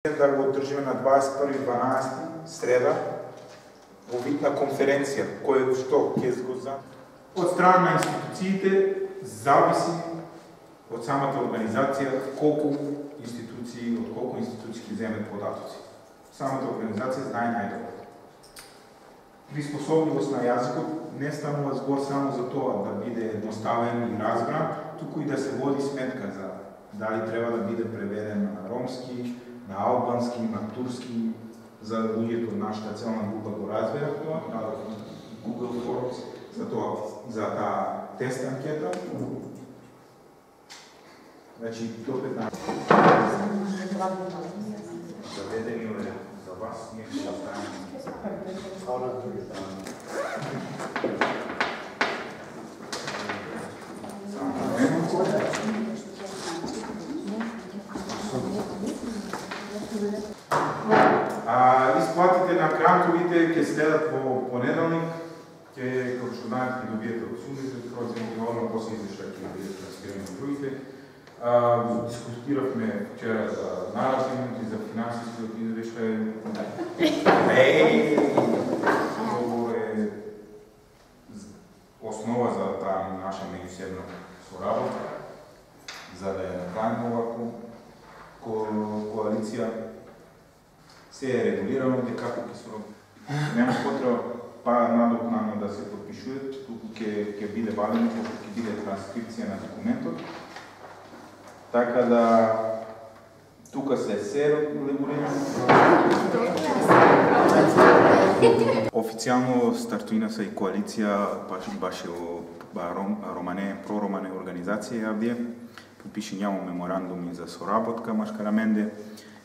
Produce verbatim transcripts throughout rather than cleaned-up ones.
Да го одржиме на дваесет и први дванаесети среда во вид на конференција, кој што ќе го за од страна на институциите зависи од самата организација колку институции, од колку институции ќе земат податоци. Самата организација знае најдобро. Приспособливост на јазикот не станува збор само за тоа да биде едноставен и разбран, туку и да се води сметка за дали треба да биде преведен на ромски, на албански, на турски, за луѓето од нашата целна група го разберат тоа, дадох Google Forms за тоа, за таа тест анкета. Значи, до петнаесет. Заведени е за вас, ние ќе останеме. А, исплатите на грантовите ќе следат во понеделник, ќе, како што знаете, ќе добиете од сумите, проценти, одма после извештај ќе бидат трансферирани на другите. А, дискутиравме вчера за наративот и за финансискиот извештај. Еј, тоа е основа за таа наша меѓусебна соработка, за да ја направиме овако коалиција. Се е регулирано дека како ќе се нема потреба па надокнано да се подпишуваат, туку ќе ќе биде вадено, пошто ќе биде транскрипција на документот. Така да тука се се регулирано. Официјално стартуина се и коалиција баш Романе, проромане организација јавдија. Подпиши нямо меморандуми за соработка Машкараменде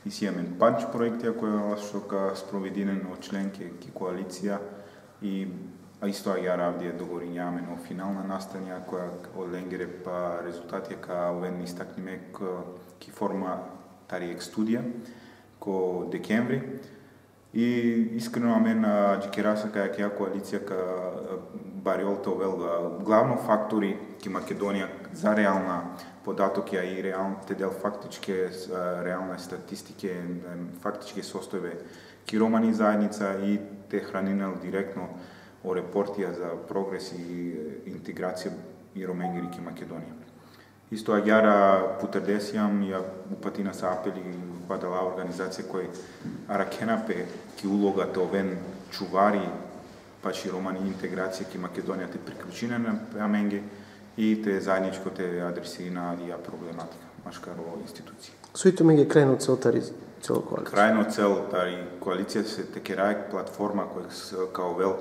и си имаме панч проекти која што ка спровединен од членки ки коалиција и а исто ја равдија договорињаме на финална настанија која од ленгере па резултати ка овен истакниме ки форма тариек студија ко декември и искрено амен џикераса каја ќе коалиција ка бариолта овел главно фактори ки Македонија за реална податоки, а и реалните дел фактички реална статистики, фактички состојбе ки романи заедница и те хранинел директно о репортија за прогрес и интеграција и роменгери ки Македонија. Исто агјара путердесијам ја упатина са апели падала организација кој аракенапе ки улогата овен чувари пачи романи интеграција ки Македонија те приклучина на аменге и те заедничко те адресира ја проблематика, машкаро институција. Суито меѓе крајно цел тари цел коалиција. Крајно цел тари коалиција се текерајк платформа која као вел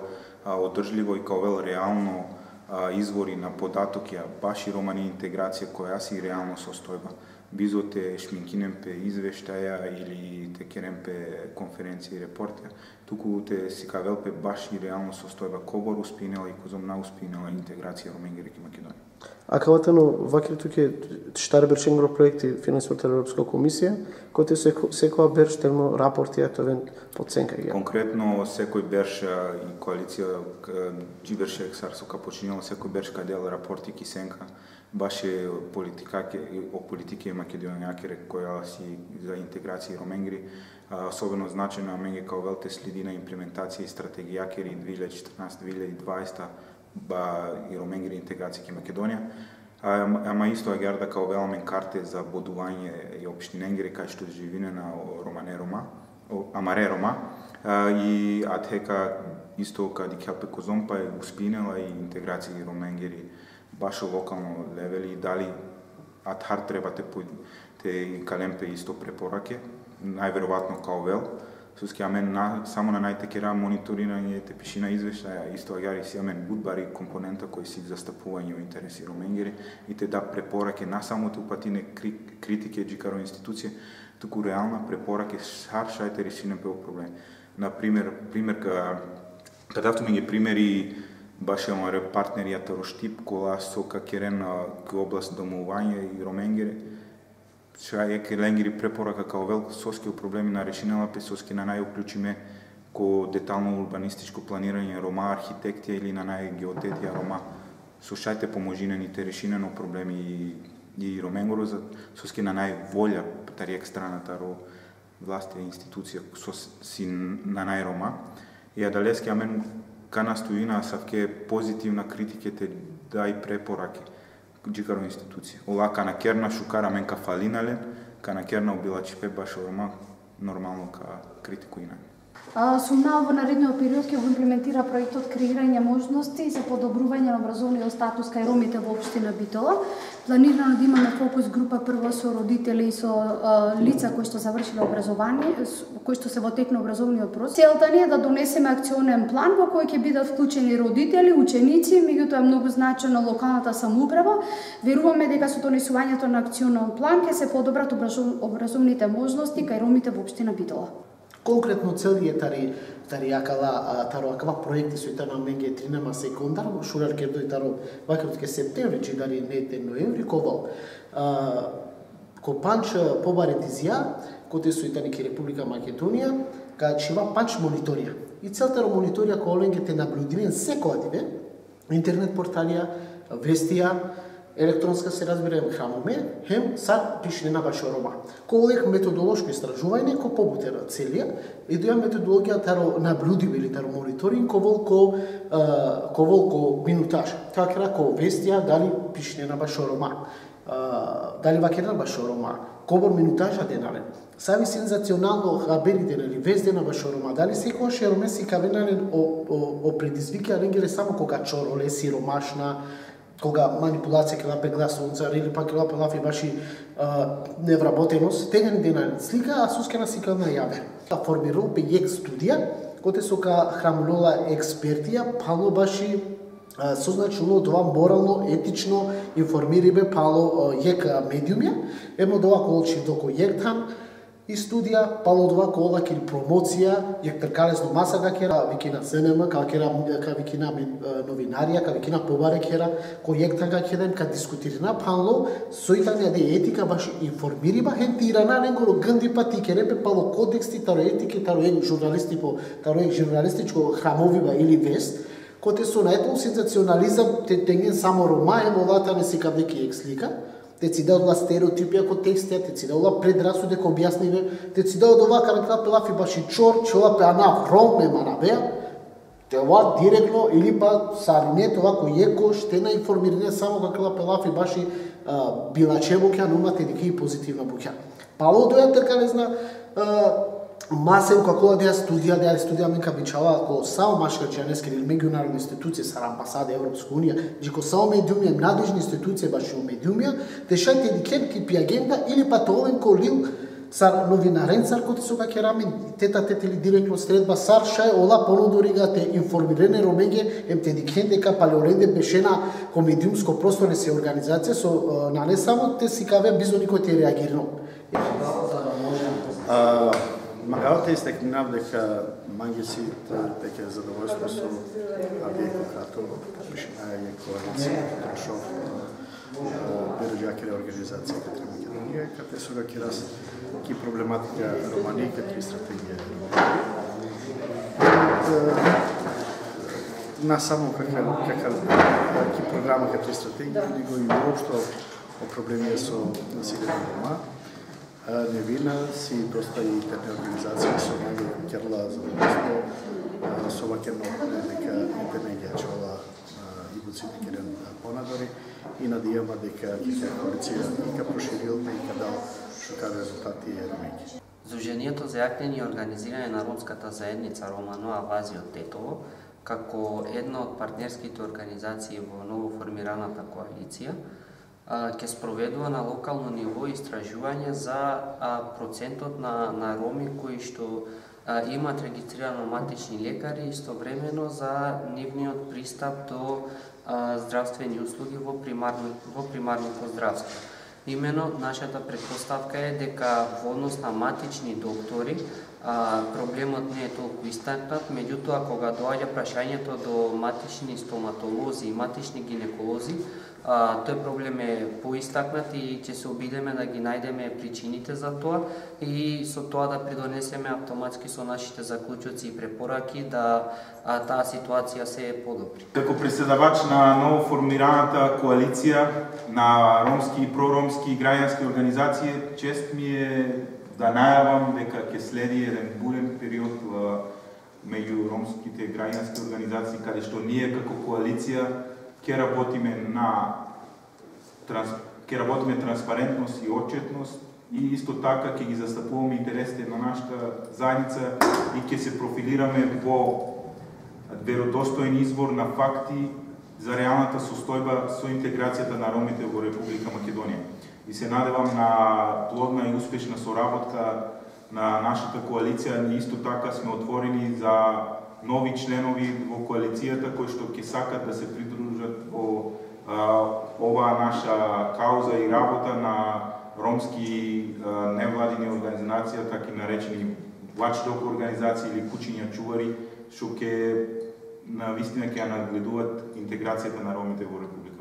одржливо и као вел реално а, извори на податоки, баш и романи интеграција која си реално состојба. Бизо те шминкинемпе извештаја или те керемпе конференција и репортија, туку те си кавелпе баш и реално состојба кобор успинела и козомна успинела интеграција роменгери ки Македонија. А калатано вакви туке штар бершенгро проекти финансирани од Европска комисија, кои се секоја берш терно рапорти ето вен подценка ги. Конкретно секој берш и коалиција џиберше ексарсо ка починела секој берш кадел рапорти ки сенка баш е политика о политике македонијакере која си за интеграција роменгери, особено значено аменге као велте следи на имплементација и стратегијакери две илјади и четрнаесета - две илјади и дваесета ба и роменгери интеграција ки Македонија. Ама исто агјарда као веламен карте за бодување и општиненгери кај што живине на Романе Рома, Амаре Рома и атека исто кади кјапе козомпа е успинела и интеграција и роменгери баш локално левели, дали атхар треба те, те калемпе исто препораке, најверојатно као вел, суски амен на, само на најтекера мониторирање те пишина извештаја, исто агјари си амен будбари компонента кој си застапување о интереси роменгери и те да препораке на само те упатине критике џикаро институција, туку реална препораке шар шајте решинем пе проблем. Например, пример ка кадавто ми ги примери баш е партнеријата Роштип, кола сока керен ки област домување и роменгери. Ша е ленгери препорака као велко соски проблеми на решинела пе соски на најуклучиме ко детално урбанистичко планирање Рома архитектија или на најгеодетија Рома. Слушајте поможинените решинено проблеми и, и роменгоро за соски на најволја тариек страната ро власти и институција со си на најрома, и да лески амен ка настоина савке позитивна критикете да и препораки джикаро институција. Ола ка на керна шукара мен ка фалинален, ка на керна убилачипе баш орма нормално ка критикуина. Сумнава во наредниот период ќе го имплементира проектот креирање можности за подобрување на образовниот статус кај ромите во општина Битола. Планирано да имаме фокус група прво со родители и со а, лица кои што завршиле образование, кои што се во тек на образовниот процес. Целта ни е да донесеме акционен план во кој ќе бидат вклучени родители, ученици, меѓутоа е многу значено локалната самоуправа. Веруваме дека со донесувањето на акционен план ќе се подобрат образовните можности кај ромите во општина Битола. Конкретно цели е тари тари акала таро акава проекти со таа менге тринама секундар шурар ке дој таро вакрот ке септември чи дари не те ноември ковал а ко панч побаретизија коте со тани ке Република Македонија ка чива панч мониторија и целта ро мониторија ко оленге те наблюдирен секоја диве интернет порталија вестија електронска се разбере храмоме, хем сар пишне на баш рома. Колек методолошко истражување ко побутера целија и доја методологија таро наблюдиви или таро мониторинг ко ко ко ко минутаж. Така рако вестија дали пишне на баш рома. Дали вакена баш рома. Кобор минутажа денален. Сави сензационално хаберите или везде на баш рома. Дали секојаш е роме си кавенален о, о, о предизвика ленгеле само кога чороле сиромашна кога манипулација ќе лапе гласонцар или пак ќе лапе лафи баши невработеност, тега ни дена слика, а сускена сика на јаве. Формирал пејек студија, коте со ка храмнола експертија, пало баши созначено това морално, етично, информирибе пало јек медиумја, емо дова колчи доко јек там, и студија, пало два кола ки промоција, јак тркалесно маса ка кера, викина СНМ, ка кера, ка викина новинарија, ка викина побаре кера, кој јак така кеден, ка дискутирина, пало, сојтања де етика баш информириба, хентирана, ненгоро гнди пати керепе, пало кодексти, таро етики, таро ек журналисти по, таро ек журналистичко храмовива или вест, коте со најтол сензационализам, те тенген само рома, емолата не си кавдеки ек слика, те си дадола стереотипија ко текстија, те си дадола предрасуде ко објасниве, те си дадола овака на крапе лафи баши чор, че ова пе ана ром ме манабеа, те ова директно или па сарине това кој еко штена информирање само како лапе лафи баши билаче буќа, нумате дека и позитивна буќа. Пало доја така не зна масен како да студија, да студија менка бичала ко само машка џенески или меѓународни институции са амбасада Европска унија, джико само медиумија, надлежни институции баши медиумија, те шајте дикенки пи агенда или па толен ко лил сар новинарен сар коти со ка рамен тета тет или директно средба сар шај ола понудорига те информирене ромење ем те дикен дека палеоренде бешена ко медиумско просторне се организација со на не само те си каве бизони кои те реагирано. Магалата истекнав дека мангесит дека задоволство со Авиеко като пишна е коалиција Трошов Берџакере организација като Македонија, кате со га кирас ки проблематика романи като стратегија. На само кака кака ки програма като стратегија, него и уопшто о проблеми со насилието рома. Невина си доста и интерне организации со наги керла за доста со вакено дека интерне ги ачала и буците керен понадори и надијама дека ќе коалиција и ка проширил и ка дал шокар резултати и ромењи. Сдруженијето за јакнење и организирање на ромската заедница Романо Авази од Тетово, како една од партнерските организации во новоформираната коалиција, ќе спроведува на локално ниво истражување за процентот на, на роми кои што а, имат регистрирано матични лекари, истовремено за нивниот пристап до а, здравствени услуги во, примарно, во примарното здравство. Имено, нашата предпоставка е дека во однос на матични доктори а, проблемот не е толку истакнат, меѓутоа кога доаѓа прашањето до матични стоматолози и матични гинеколози, А, тој проблем е поистакнат и ќе се обидеме да ги најдеме причините за тоа и со тоа да придонесеме автоматски со нашите заклучоци и препораки да а, таа ситуација се подобри. Како преседавач на новоформираната коалиција на ромски и проромски граѓански организации, чест ми е да најавам дека ќе следи еден бурен период меѓу ромските граѓански организации, каде што ние како коалиција ќе работиме на транс, ќе работиме транспарентност и отчетност и исто така ќе ги застапуваме интересите на нашата заедница и ќе се профилираме во веродостоен извор на факти за реалната состојба со интеграцијата на ромите во Република Македонија. И се надевам на плодна и успешна соработка на нашата коалиција. Ние исто така сме отворени за нови членови во коалицијата кои што ќе сакат да се придружат во а, оваа наша кауза и работа на ромски а, невладини организации, така и наречени watchdog организации или кучиња чувари, што ќе на вистина ќе нагледуваат интеграцијата на ромите во Република.